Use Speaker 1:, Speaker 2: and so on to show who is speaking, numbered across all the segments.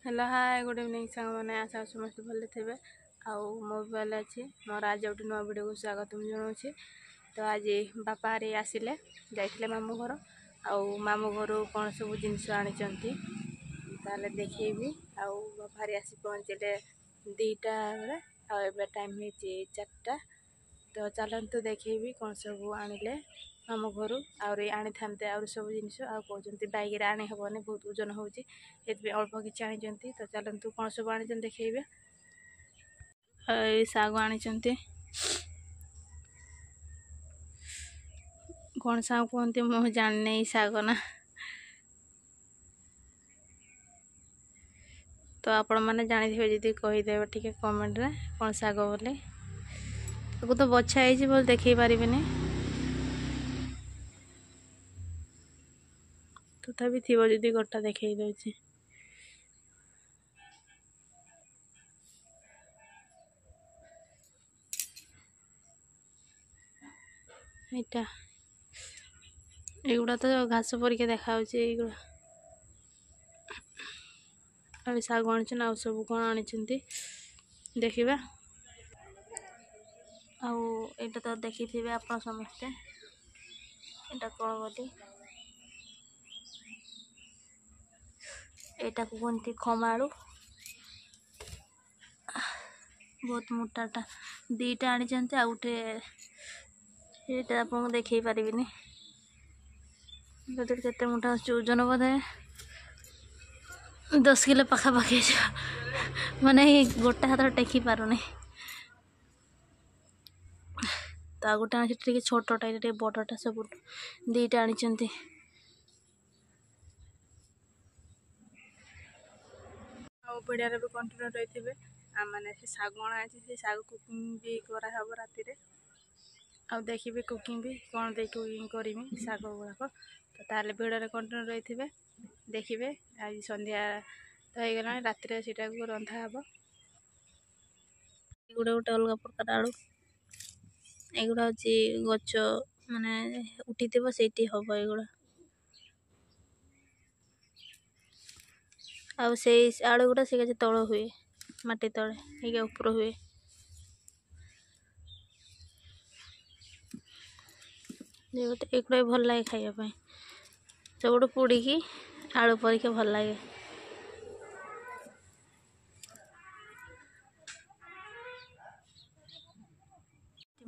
Speaker 1: Hello hi good evening ସାଙ୍ଗମାନେ, ଆଶା କରୁଛି ସମସ୍ତେ ଭଲରେ ଥିବେ ଆଉ ମୁଁ ବି ଭଲ ଅଛି। ମୋର ଆଜି ଗୋଟେ ନୂଆ ଭିଡ଼ିଓକୁ ସ୍ୱାଗତ ମୁଁ ଜଣାଉଛି। ତ ଆଜି ବାପା ହାରି ଆସିଲେ, ଯାଇଥିଲେ ମାମୁଁ ଘର, ଆଉ ମାମୁଁ ଘରୁ କ'ଣ ସବୁ ଜିନିଷ ଆଣିଛନ୍ତି ତାହେଲେ ଦେଖେଇବି। ଆଉ ବାପା ହାରି ଆସି ପହଞ୍ଚିଲେ 2ଟା ବେଳେ, ଆଉ ଏବେ ଟାଇମ୍ ହେଇଛି 4ଟା। ତ ଚାଲନ୍ତୁ ଦେଖେଇବି କ'ଣ ସବୁ ଆଣିଲେ ମାମୁଁ ଘରୁ। ଆହୁରି ଆଣିଥାନ୍ତେ ଆହୁରି ସବୁ ଜିନିଷ, ଆଉ କହୁଛନ୍ତି ବାଇକ୍ରେ ଆଣି ହେବନି, ବହୁତ ଓଜନ ହେଉଛି, ସେଥିପାଇଁ ଅଳ୍ପ କିଛି ଆଣିଛନ୍ତି। ତ ଚାଲନ୍ତୁ କ'ଣ ସବୁ ଆଣିଛନ୍ତି ଦେଖେଇବେ। ଏଇ ଶାଗ ଆଣିଛନ୍ତି, କ'ଣ ଶାଗ କୁହନ୍ତି ମୁଁ ଜାଣିନି ଏଇ ଶାଗ ନା, ତ ଆପଣମାନେ ଜାଣିଥିବେ ଯଦି କହିଦେବେ ଟିକେ କମେଣ୍ଟରେ କ'ଣ ଶାଗ ବୋଲି। ତାକୁ ତ ବଛା ହେଇଛି ବୋଲି ଦେଖେଇ ପାରିବିନି, ତଥାପି ଥିବ ଯଦି ଗୋଟା ଦେଖେଇ ଦେଉଛି। ଏଇଟା ଏଗୁଡ଼ା ତ ଘାସ ପରିକା ଦେଖାଯାଉଛି ଏଇଗୁଡ଼ା। ଆଉ ଶାଗ ଆଣିଛନ୍ତି, ଆଉ ସବୁ କ'ଣ ଆଣିଛନ୍ତି ଦେଖିବା। ଆଉ ଏଇଟା ତ ଦେଖିଥିବେ ଆପଣ ସମସ୍ତେ, ଏଇଟା କ'ଣ ବୋଲି। ଏଇଟାକୁ କୁହନ୍ତି ଖମାଳୁ, ବହୁତ ମୋଟାଟା। 2ଟା ଆଣିଛନ୍ତି, ଆଉ ଗୋଟେ ଏଇଟା ଆପଣଙ୍କୁ ଦେଖେଇ ପାରିବିନି। କେତେ ମୋଟା ଆସୁଛି, ଓଜନ ବୋଧେ 10 କିଲୋ ପାଖାପାଖି ହେଇଯିବ, ମାନେ ଗୋଟେ ହାତରେ ଟେକି ପାରୁନି। ତ ଆଉ ଗୋଟେ ଆଣିଛି ଟିକେ ଛୋଟଟା, ଏଇଟା ଟିକେ ବଡ଼ଟା, ସବୁଠୁ 2ଟା ଆଣିଛନ୍ତି। ଆଉ ଭିଡ଼ିଓରେ ବି କଣ୍ଟିନ୍ୟୁ ରହିଥିବେ। ମାନେ ସେ ଶାଗ ଅଣା ହେଇଛି, ସେ ଶାଗ କୁକିଂ ବି କରାହେବ ରାତିରେ, ଆଉ ଦେଖିବେ କୁକିଂ ବି କ'ଣ ଦେଇ କୁକିଂ କରିମି ଶାଗ ଗୁଡ଼ାକ। ତ ତାହେଲେ ଭିଡ଼ିଓରେ କଣ୍ଟିନ୍ୟୁ ରହିଥିବେ, ଦେଖିବେ। ଆଜି ସନ୍ଧ୍ୟା ତ ହେଇଗଲାଣି, ରାତିରେ ସେଇଟାକୁ ରନ୍ଧା ହେବ। ଏଗୁଡ଼ା ଗୋଟେ ଅଲଗା ପ୍ରକାର ଆଳୁ, ଏଗୁଡ଼ା ହେଉଛି ଗଛ ମାନେ ଉଠିଥିବ ସେଇଠି ହେବ ଏଗୁଡ଼ା। ଆଉ ସେଇ ଆଳୁ ଗୁଡ଼ା ସେ ଗଛ ତଳ ହୁଏ, ମାଟି ତଳେ ହେଇକି ଉପର ହୁଏ। ଏଗୁଡ଼ା ବି ଭଲ ଲାଗେ ଖାଇବା ପାଇଁ, ସବୁଠୁ ପୋଡ଼ିକି ଆଳୁ ପରିକା ଭଲ ଲାଗେ।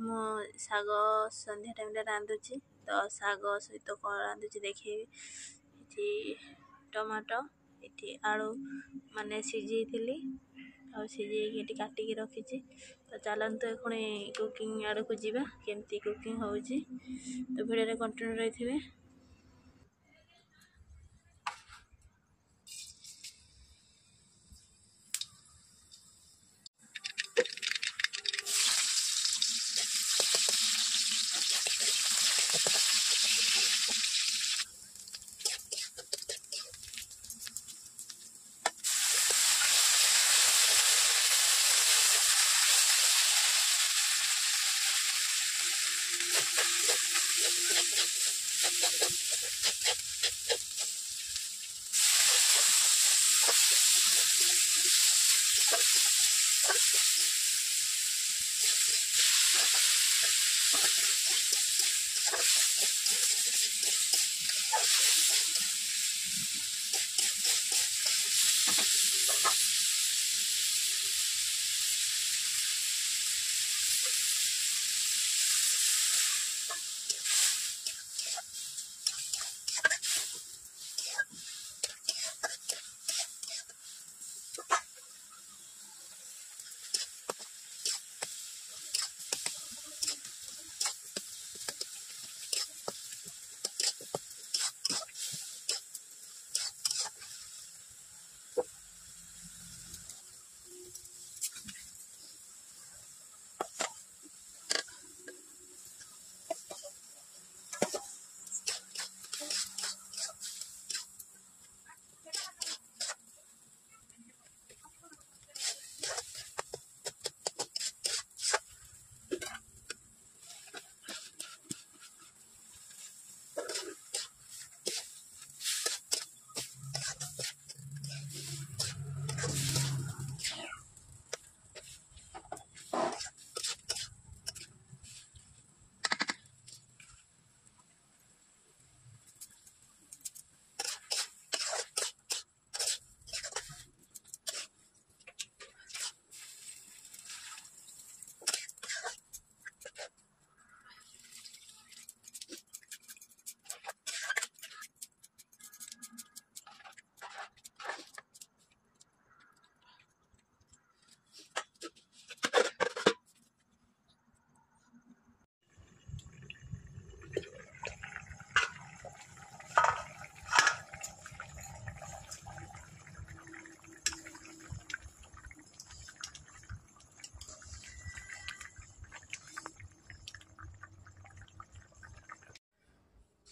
Speaker 1: ମୁଁ ଶାଗ ସନ୍ଧ୍ୟା ଟାଇମ୍ରେ ରାନ୍ଧୁଛି, ତ ଶାଗ ସହିତ କ'ଣ ରାନ୍ଧୁଛି ଦେଖେଇବି। ଏଠି ଟମାଟୋ, ଏଠି ଆଳୁ ମାନେ ସିଝେଇଥିଲି, ଆଉ ସିଝେଇକି ଏଠି କାଟିକି ରଖିଛି। ତ ଚାଲନ୍ତୁ ଏଖୁଣି କୁକିଂ ଆଡ଼କୁ ଯିବା, କେମିତି କୁକିଂ ହେଉଛି। ତ ଭିଡ଼ିଓରେ କଣ୍ଟିନ୍ୟୁ ରହିଥିବେ।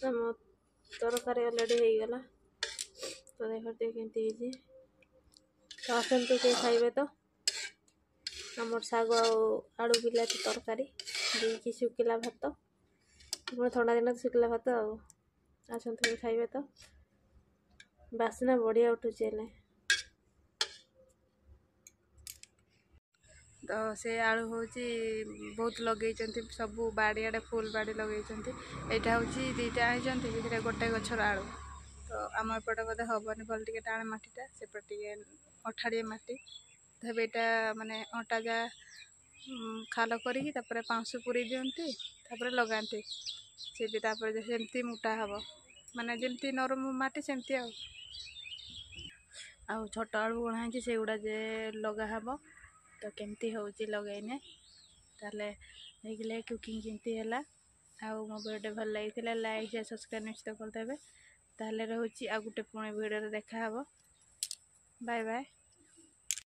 Speaker 1: ଆମ ତରକାରୀ ଅଲରେଡ଼ି ହେଇଗଲା। ତ ଦେଖ କେମିତି ହେଇଛି। ତ ଆସନ୍ତୁ କିଏ ଖାଇବେ। ତ ଆମର ଶାଗ ଆଉ ଆଳୁ ବିଲାତି ତରକାରୀ ଦେଇକି ଶୁଖିଲା ଭାତ, ପୁଣି ଥଣ୍ଡା ଦିନ ତ ଶୁଖିଲା ଭାତ। ଆଉ ଆସନ୍ତୁ କିଏ ଖାଇବେ। ତ ବାସ୍ନା ବଢ଼ିଆ ଉଠୁଛି ହେଲେ। ତ ସେ ଆଳୁ ହେଉଛି ବହୁତ ଲଗେଇଛନ୍ତି, ସବୁ ବାଡ଼ିଆଡ଼େ ଫୁଲ୍ ବାଡ଼ି ଲଗେଇଛନ୍ତି। ଏଇଟା ହେଉଛି 2ଟା ଆଣିଛନ୍ତି, ସେଥିରେ ଗୋଟେ ଗଛର ଆଳୁ। ତ ଆମ ଏପଟେ ବୋଧେ ହେବନି ଭଲ, ଟିକେ ଟାଣ ମାଟିଟା, ସେପଟେ ଟିକେ ଅଠାଳିଆ ମାଟି। ତ ଏବେ ଏଇଟା ମାନେ ଅଣ୍ଟା ଯା ଖାଲ କରିକି ତାପରେ ପାଉଁଶ ପୁରେଇ ଦିଅନ୍ତି, ତାପରେ ଲଗାନ୍ତି ସେ ବି, ତାପରେ ସେମିତି ମୋଟା ହେବ, ମାନେ ଯେମିତି ନରମ ମାଟି ସେମିତି। ଆଉ ଛୋଟ ଆଳୁ ବୁଣା ହେଇଛି, ସେଗୁଡ଼ା ଯେ ଲଗା ହେବ। ତ କେମିତି ହେଉଛି ଲଗେଇନେ। ତାହେଲେ ଦେଖିଲେ କୁକିଂ କେମିତି ହେଲା। ଆଉ ମୋ ଭିଡ଼ିଓ ଭଲ ଲାଗିଥିଲା ଲାଇକ୍, ସେୟାର, ସବସ୍କ୍ରାଇବ୍ ନିଶ୍ଚିତ କରିଦେବେ। ତାହେଲେ ରହୁଛି, ଆଉ ଗୋଟେ ପୁଣି ଭିଡ଼ିଓରେ ଦେଖାହେବ। Bye bye.